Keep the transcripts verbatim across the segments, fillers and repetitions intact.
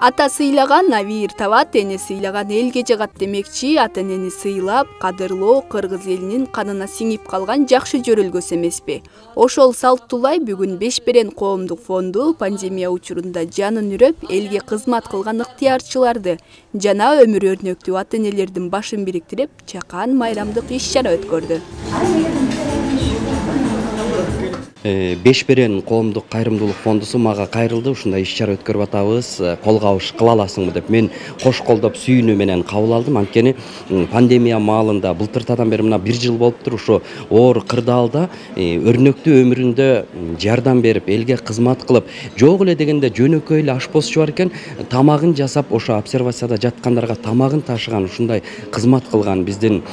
Ата сыйлаган навир табат, эне сыйлаган элге жагат демекчи, ата энени сыйлап, кадырлоо кыргыз элинин канына сиңип калган жакшы жөрөлгөсү эмеспи? Ошол салттуулай бүгүн Бешберен коомдук фонду пандемия учурунда жанын үрөп, элге кызмат кылган ыктыярчыларды жана өмүр өрнөктүү ата энелердин башын бириктирип, чакан майрамдык иш-чара өткөрдү. Бешберен коомдук кайрымдуулук фондусу мага кайрылды, ушундай иш-чара өткөрүп атабыз, колго алыш кыла аласыңбы деп мен кош колдоп сүйүнүү менен кабыл алдым. Анткени пандемия маалында былтыртадан бери мына бир жыл болуптур, ушу оор кырдаалда өрнөктүү өмүрүндө жардам берип, элге кызмат кылып, жок эле дегенде жөнөкөй эле ашпозчу бар экен, тамагын жасап, ошо обсервацияда жаткандарга тамагын ташыган, ушундай кызмат кылган биздин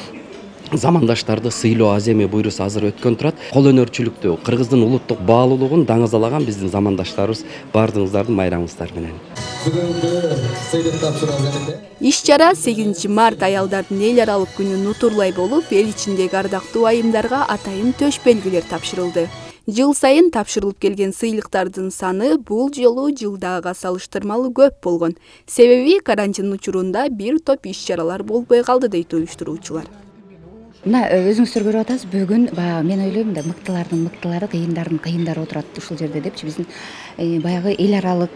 замандаштарды сыйлоо аземи буйрусу азыр өткөн турат. Кол өнөрчүлүктү, кыргыздын улуттук баалуулугун даңазалаган биздин замандаштарыбыз баардыгыңыздардын майрамыңыздар менен. Иш-чара сегизинчи март аялдардын эл аралык күнүн нутурлай болуп, эл ичиндеги ардактуу айымдарга атайын төш белгилер тапшырылды. Жыл сайын тапшырылып келген сыйлыктардын саны бул жолу жылдагыга салыштырмалуу көп болгон. Себеби карантин учурунда бир топ иш-чаралар болбой калды дейт уюштуруучулар. Мына өзүңүздөр көрүп атасыз, бүгүн баягы мен ойлойм да мыктылардын мыктылары, кыйындардын кыйындары отурат ушул жерде депчи. Биздин баягы эл аралык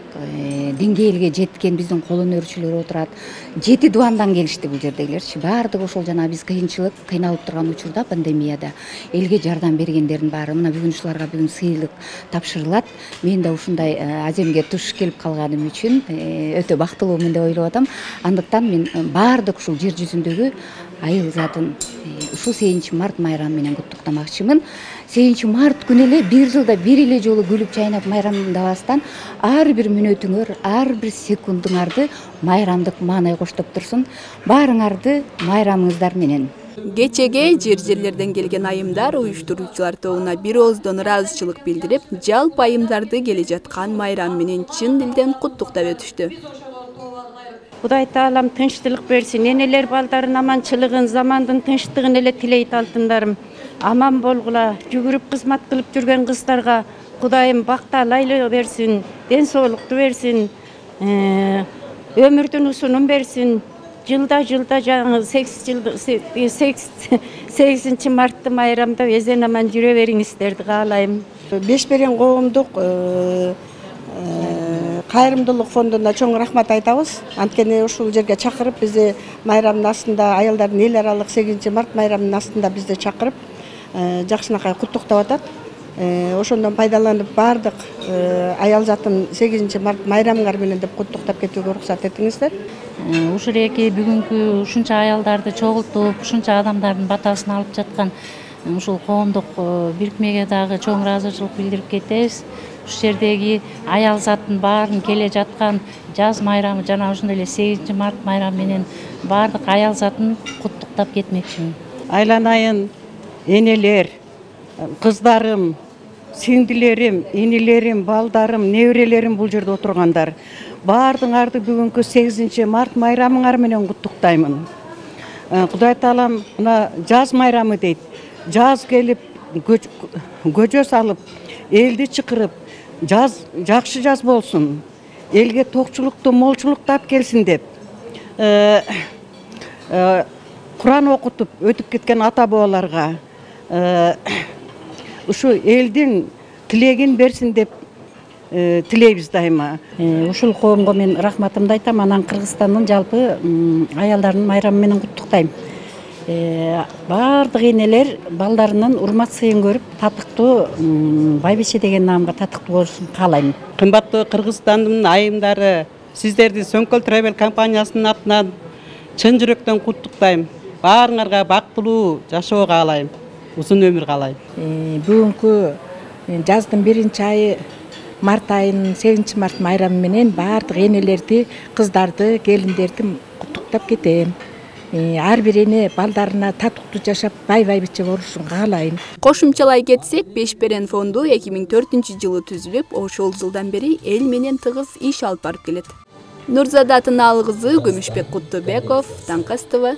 деңгээлге жеткен биздин кол өнөрчүлөр отурат. Жети дубандан келишти бул жердегилерчи. Баардыгы ошол жана биз кыйынчылык, кыйналып турган учурда пандемияда элге жардам бергендердин баары мына бүгүн ушуларга бүгүн сыйлык тапшырылат. Мен да ушундай аземге туш келип калганым үчүн өтө бактылуумун деп ойлоп атам. Андыктан мен баардык ушул жер жүзүндөгү айыл затын ушул сегизинчи март майрамы менен куттуктамакчымын. сегизинчи март күнү эле бир жылда бир эле жолу күлүп жайнап майрамдабастан ар бир мүнөтүңөр, ар бир секундуңарды майрамдык маанай коштоп турсун. Баарыңарды майрамыңыздар менен. Кечеге жер-жерлерден келген айымдар уюштуруучулар тобуна бир ооздон ыраазычылык билдирип, жалпы айымдарды келе жаткан майрам менен чын дилден куттуктап өтүштү. Кудай таалам тынчтылык берсин, энелер балдарын аманчылыгын, замандын тынчтыгын эле тилейт алтындарым. Аман болгула, жүгүрүп кызмат кылып жүргөн кыздарга Кудайым бакталайлы берсин, ден соолукту берсин, өмүрдүн усунун берсин. Жылда жылда жаңы сегизинчи мартты майрамда эзен аман жүрө бериңиздерди каалайм. Бешберен коомдук кайрымдуулук фондуна чоң рахмат айтабыз. Анткени ушул жерге чакырып, бизди майрамдын астында, аялдардын эл аралык сегизинчи март майрамынын астында бизди чакырып, жакшынакай куттуктап атат. Ошондон пайдаланып баардык аял затын сегизинчи март майрамыңар менен деп куттуктап кетүүгө уруксат этиңиздер. Ушул эки бүгүнкү ушунча аялдарды чогултуп, ушунча адамдардын батасын алып жаткан ушул коомдук бирикмеге дагы чоң ыраазычылык билдирип кетебиз. Ушул жердеги аял заттын баарын келе жаткан жаз майрамы жана ошондой эле сегизинчи март майрамы менен баардык аял затын куттуктап кетмекчимин. Айланайын энелер, кыздарым, сиңдилерим, инилерим, балдарым, неберелерим бул жерде отургандар. Баардыгыңарды бүгүнкү сегизинчи март майрамыңар менен куттуктаймын. Кудай таалам мына жаз майрамы дейт. Жаз келип, көжө салып, элди чакырып, жаз жакшы жаз болсун, элге токчулукту, молчулукту алып келсин деп Куран окутуп өтүп кеткен ата бабаларга ушу элдин тилегин берсин деп тилейбиз дайыма. Ушул коомго мен рахматымды айтам, анан Кыргызстандын жалпы аялдардын майрамы менен куттуктайм. Баардык энелер балдарынын урмат сыйын көрүп, татыктуу байбиче деген наамга татыктуу болушун каалайм. Кымбаттуу Кыргызстандын айымдары, сиздерди Сөңкөл Travel компаниясынын атынан чын жүрөктөн куттуктайм. Баарыңарга бактылуу жашоо каалайм, узун өмүр каалайм. Бүгүнкү жаздын биринчи айы март айынын сегизинчи март майрамы менен баардык энелерди, кыздарды, келиндерди куттуктап кетем. Ар бир эне балдарына татыктуу жашап, бай байбиче болушун каалайм. Кошумчалай кетсек, Бешберен фонду эки миң төртүнчү жылы түзүлүп, ошол жылдан бери эл менен тыгыз иш алып барып келет. Нурзада Тынаалы кызы, Күмүшбек Куттубеков, Таңкас Т В.